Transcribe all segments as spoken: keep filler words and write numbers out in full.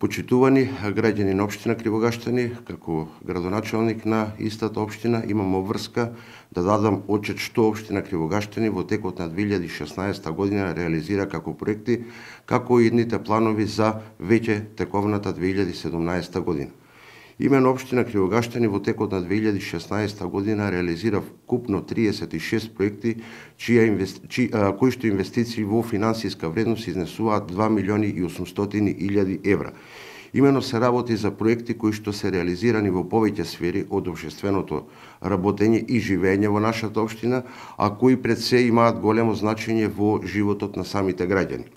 Почитувани граѓани на општина Кривогаштани, како градоначалник на истата општина, имам обврска да дадам отчет што општина Кривогаштани во текот на две илјади и шеснаесета година реализира како проекти, како и идните планови за веќе тековната две илјади и седумнаесета година. Имено општина Кривогаштани во текот на две илјади и шеснаесета година реализира вкупно триесет и шест проекти, чија инвести... чи... кои што инвестиции во финансиска вредност изнесуваат два милиони и осумстотини илјади евра. Имено се работи за проекти кои што се реализирани во повеќе сфери од општественото работење и живење во нашата општина, а кои пред се имаат големо значење во животот на самите граѓани.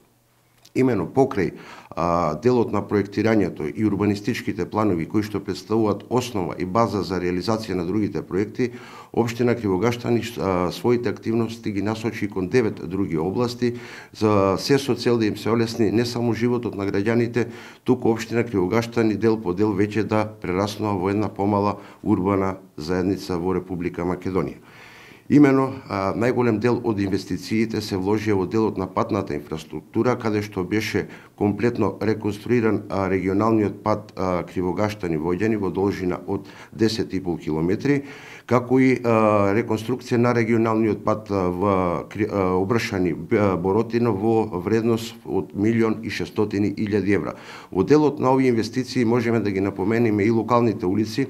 Имено покрај а, делот на проектирањето и урбанистичките планови кои што представуваат основа и база за реализација на другите проекти, општина Кривогаштани а, своите активности ги насочи кон девет други области за се со цел да им се олесни не само животот на граѓаните, туку општина Кривогаштани дел по дел веќе да прераснува во една помала урбана заедница во Република Македонија. Имено, најголем дел од инвестициите се вложија во делот на патната инфраструктура, каде што беше комплетно реконструиран регионалниот пат Кривогаштани Војдјани во должина од десет и пол километри, како и реконструкција на регионалниот пат во Обршани Боротино во вредност од милион и шестстотини илјади евра. Во делот на овие инвестиции можеме да ги напомениме и локалните улици,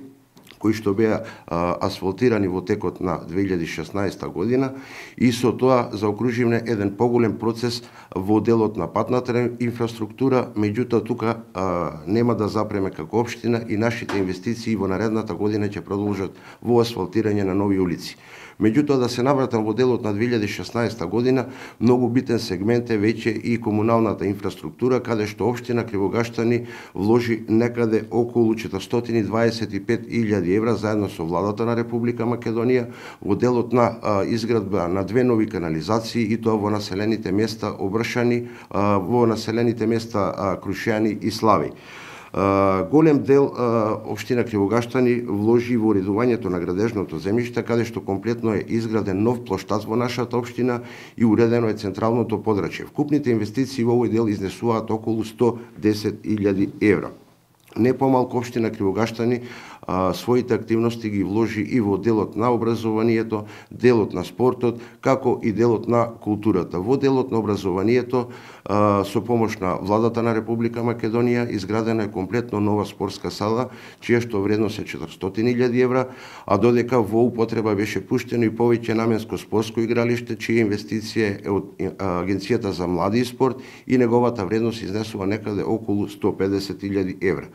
кои што беа а, асфалтирани во текот на две илјади и шеснаесета година, и со тоа заокруживме еден поголем процес во делот на патната инфраструктура, меѓутоа тука а, нема да запреме како општина и нашите инвестиции во наредната година ќе продолжат во асфалтирање на нови улици. Меѓутоа, да се навратам во делот на две илјади и шеснаесета година, многу битен сегмент е веќе и комуналната инфраструктура, каде што општина Кривогаштани вложи некаде околу четиристотини и дваесет и пет илјади евра заедно со владата на Република Македонија во делот на а, изградба на две нови канализации, и тоа во населените места Обршани, а, во населените места а, Крушјани и Слави. Uh, голем дел uh, општина Кривогаштани вложи во уредувањето на градежното земјиште, каде што комплетно е изграден нов плоштад во нашата општина и уредено е централното подрачје. Вкупните инвестиции во овој дел изнесуваат околу сто десет илјади евра. Не помалку општина Кривогаштани а, своите активности ги вложи и во делот на образованието, делот на спортот, како и делот на културата. Во делот на образованието, а, со помош на владата на Република Македонија, изградена е комплетно нова спортска сала, чија што вредност е четиристотини илјади евра, а додека во употреба беше пуштено и повеќе наменско спортско игралиште, чија инвестиција е од Агенцијата за млади и спорт, и неговата вредност изнесува некаде околу сто педесет илјади евра.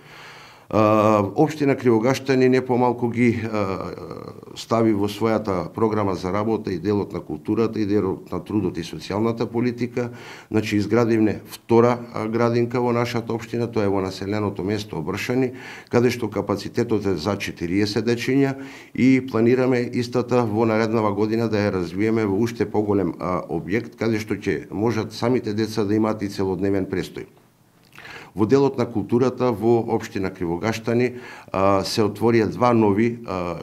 Uh, општина Кривогаштани не помалку ги uh, стави во својата програма за работа и делот на културата и делот на трудот и социјалната политика. Значи, изградивме втора uh, градинка во нашата општина, тоа е во населеното место Обршани, каде што капацитетот е за четириесет дечиња, и планираме истата во нареднава година да ја развиеме во уште поголем uh, објект, каде што ќе можат самите деца да имаат и целодневен престој. Во делот на културата во општина Кривогаштани а, се отворија два нови а,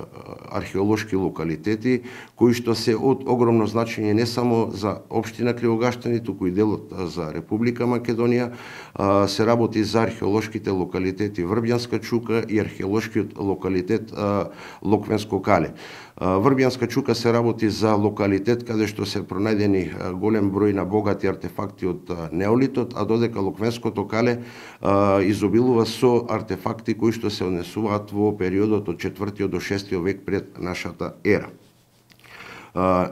археолошки локалитети, кои што се од огромно значење не само за општина Кривогаштани, туку и делот а, за Република Македонија. А, се работи за археолошките локалитети Врбјанска чука и археолошкиот локалитет а, Локвенско кале. Врбјанска чука се работи за локалитет каде што се пронајдени голем број на богати артефакти од неолитот, а додека Локвенското кале изобилува со артефакти кои што се однесуваат во периодот од четвртиот до шестиот век пред нашата ера.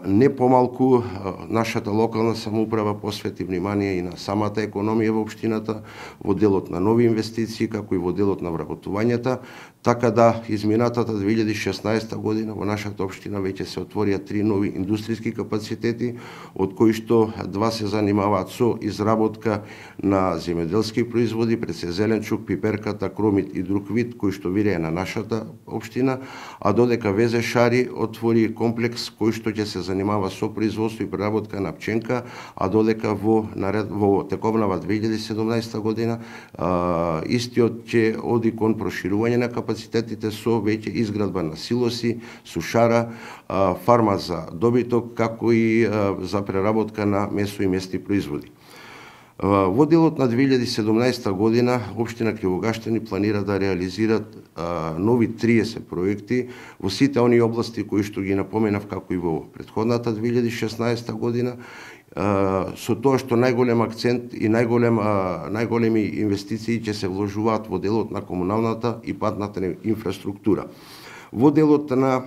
Не помалку нашата локална самоуправа посвети внимание и на самата економија во општината, во делот на нови инвестиции, како и во делот на вработувањата, така да изминатата две илјади и шеснаесета година во нашата општина веќе се отворија три нови индустријски капацитети, од кои што два се занимаваат со изработка на земјоделски производи, пред се зеленчук, пиперката, кромит и друг вид, кои што вирее на нашата општина, а додека ВЗ Шари отвори комплекс кој што ќе се занимава со производство и преработка на пченка, а додека во наред во тековнава две илјади и седумнаесета година а, истиот ќе оди кон проширување на капацитетите со веќе изградба на силоси, сушара, а, фарма за добиток, како и а, за преработка на месо и месни производи. Во делот на две илјади и седумнаесета година општина Кривогаштани планира да реализираат а, нови триесет проекти во сите оние области кои што ги напоменав како и во претходната две илјади и шеснаесета година, а, со тоа што најголем акцент и најголем а, најголеми инвестиции ќе се вложуваат во делот на комуналната и патната инфраструктура. Во делот на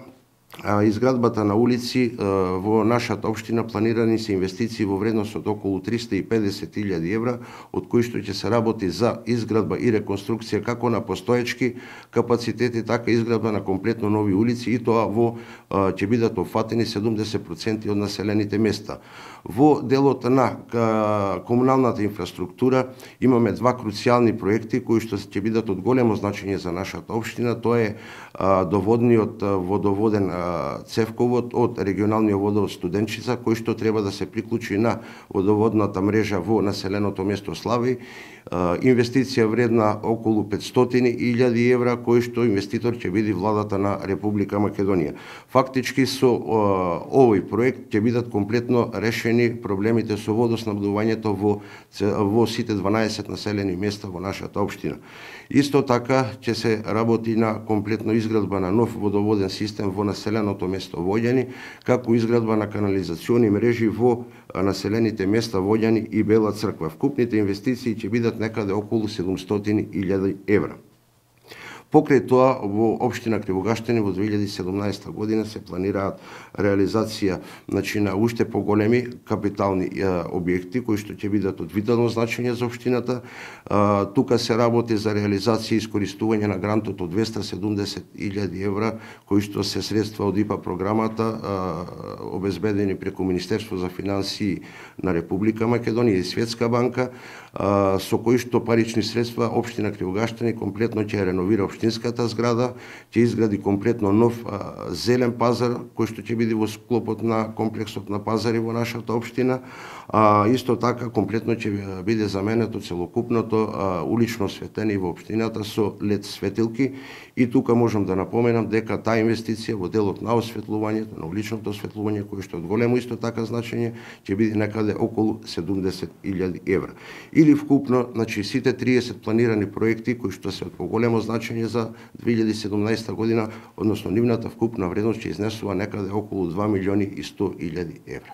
А, изградбата на улици а, во нашата општина планирани се инвестиции во вредност од околу триста и педесет илјади евра, од кои што ќе се работи за изградба и реконструкција како на постоечки капацитети, така и изградба на комплетно нови улици, и тоа во а, ќе бидат опфатени седумдесет проценти од населените места. Во делот на а, комуналната инфраструктура имаме два круцијални проекти кои што ќе бидат од големо значење за нашата општина. Тоа е а, доводниот а, водоводен цевковод од регионалниот водовод Студенчица, кој што треба да се приклучи на водоводната мрежа во населеното место Слави. Инвестиција вредна околу петстотини илјади евра, кој што инвеститор ќе биде владата на Република Македонија. Фактички со овој проект ќе бидат комплетно решени проблемите со водоснабдувањето во во сите дванаесет населени места во нашата општина. Исто така ќе се работи на комплетно изградба на нов водоводен систем во населеното место Воѓани, како изградба на канализациони мрежи во населените места Воѓани и Бела Црква. Вкупните инвестиции ќе бидат некаде околу седумстотини илјади евра. Покрај тоа, во општина Кривогаштани во две илјади и седумнаесета година се планираат реализација, значи, на уште поголеми капитални е, објекти кои што ќе бидат од витално значење за општината. А, тука се работи за реализација и искористување на грантот од двеста седумдесет илјади евра, кои што се средства од ИПА програмата, а, обезбедени преку Министерство за финансии на Република Македонија и Светска банка, а, со кои што парични средства општина Кривогаштани комплетно ќе реновира општинската зграда, ќе изгради комплетно нов а, зелен пазар, кој што ќе биде во склопот на комплексот на пазари во нашата општина. А, исто така комплетно ќе биде заменето целокупното а, улично осветление во општината со лед светилки, и тука можам да напоменам дека таа инвестиција во делот на осветлувањето, на уличното осветлување, кој што од големо исто така значење, ќе биде некаде околу седумдесет илјади евра. Или вкупно, значи, сите триесет планирани проекти кои што се од поголемо значење за две илјади и седумнаесета година, односно нивната вкупна вредност ќе изнесува некаде околу два милиони и сто илјади евра.